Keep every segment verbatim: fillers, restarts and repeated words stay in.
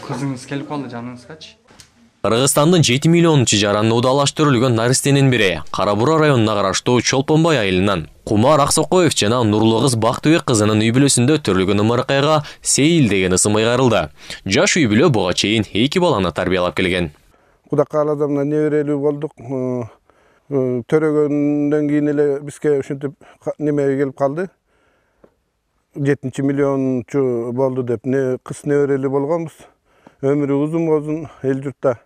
Кызыңыз келип калды жаныңызгачы? Кыргызстандын жети миллионунчу жараны удалаштырылган наристенин бири Кара Бура районуна караштуу Чолпонбай айылынан Кумар Аксокоев жана Нурлуу кыз Бактыбек кызынын үй бүлөсүндө төрөлгөн ымыркайга Сейил деген ысым ыйгарылды. Жаш үй бүлө буга чейин эки баланы тарбиялап келген. Кудай кааласа мына неберелүү болдук. Төрөгөндөн кийин эле бизге ушинтип немеге келип калды. жетинчи миллиончу болду деп не кыз неберелүү болгонбуз. Өмүрү узун болсун эл журтта.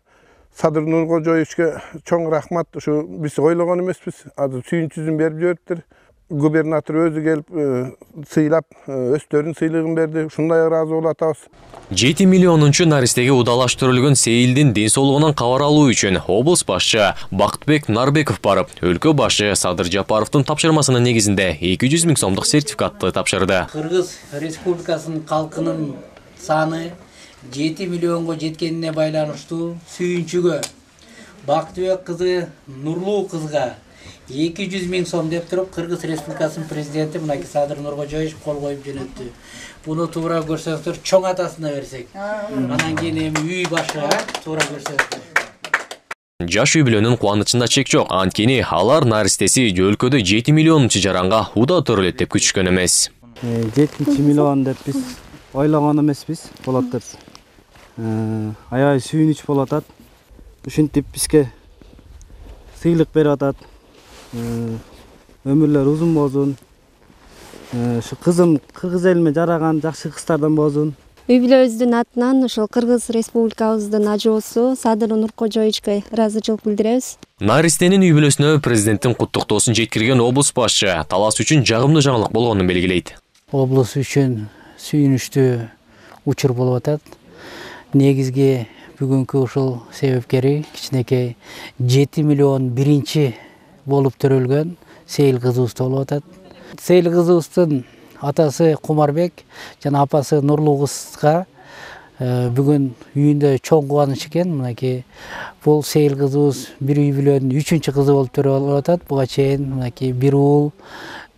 Садыр Нуркожоевичке чоң рахмат. Ушу биз ойлогон эмеспиз. Азыр сүйүнчүсүн берип жибериптир. Губернатор өзү келип сыйлап, өстөрүн сыйлыгын берди. Ушундай ыраазы болуп атабыз. жети миллионунчу наристеге удалаштырылган Сейилдин ден соолугунан кабар алуу үчүн облус башчы Бактыбек Нарбеков барып, өлкө башы Садыр Жапаровдун тапшырмасынын негизинде эки жүз миң сомдук сертификатты тапшырды. Кыргыз Республикасынын калкынын саны жети миллионго жеткенине байланыштуу сүйүнчүгө Бактыбек кызы Нурлуу кызга эки жүз миң сом деп туруп Кыргыз Республикасынын президенти мынакей Садыр Нуркожоевич кол коюп жөнөттү. Буну туура көрсөңүздөр чоң атасына берсек. Анан кийин эми үй башыга туура көрсөңүздөр. Жаш үй бүлөнүн кубанычында чек жок. Анткени алар наристеси өлкөдө жети миллионунчу жаранга уда төрөлөт деп күтүшкөн эмес. жетинчи миллион деп биз ойлогон эмеспиз болот деп. Аябай сүйүнүч болуп атат. Ушинтип бизге сыйлык берип атат. Өмүрлөр узун болсун. Ушу кызым кыргыз элиме жараган жакшы кыздардан болсун. Үй бүлөбүздүн атынан ошол Кыргыз Республикабыздын ажоосу Садыр Нуркожоевичке ыраазычылык билдиребиз. Наристенин үй бүлөсүнө президенттин куттуктоосун жеткирген облус башчы талас үчүн жагымдуу жаңылык болгонун белгилейт. Облус үчүн сүйүнүчтүү учур болуп атат. Негизги бүгүнкү ушул себепкери кичинекей жети миллион биринчи болуп төрөлгөн Сейил кызыбыз болуп атат. Сейил кызыбыздын атасы Кумарбек жана апасы Нурлуу кызга бүгүн үйүндө чоң кубаныч экен. Мынакей бул Сейил кызыбыз бир үй бүлөнүн үчүнчү кызы болуп төрөлүп атат. Буга чейин мынакей бир уул,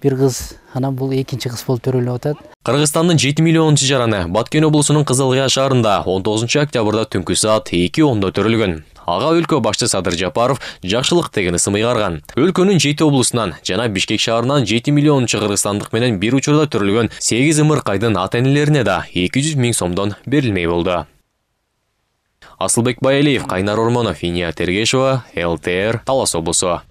бир кыз, анан бул экинчи кыз болуп төрөлүп атат. Кыргызстандын жети миллионунчу жараны Баткен облусунун Кызылкыя шаарында он тогузунчу октябрда түнкү саат эки ондо төрөлгөн. Ага өлкө башчы Садыр Жапаров жакшылык деген ысым ыйгарган. Өлкөнүн жети облусунан жана Бишкек шаарынан жети миллионунчу кыргызстандык менен бир учурда төрөлгөн сегиз ымыркайдын ата-энелерине да эки жүз миң сомдон берилмей болду. Асылбек Байалиев, Кайнар Ормонов, Иния Тергешова, эл тэ эр, Талас облусу.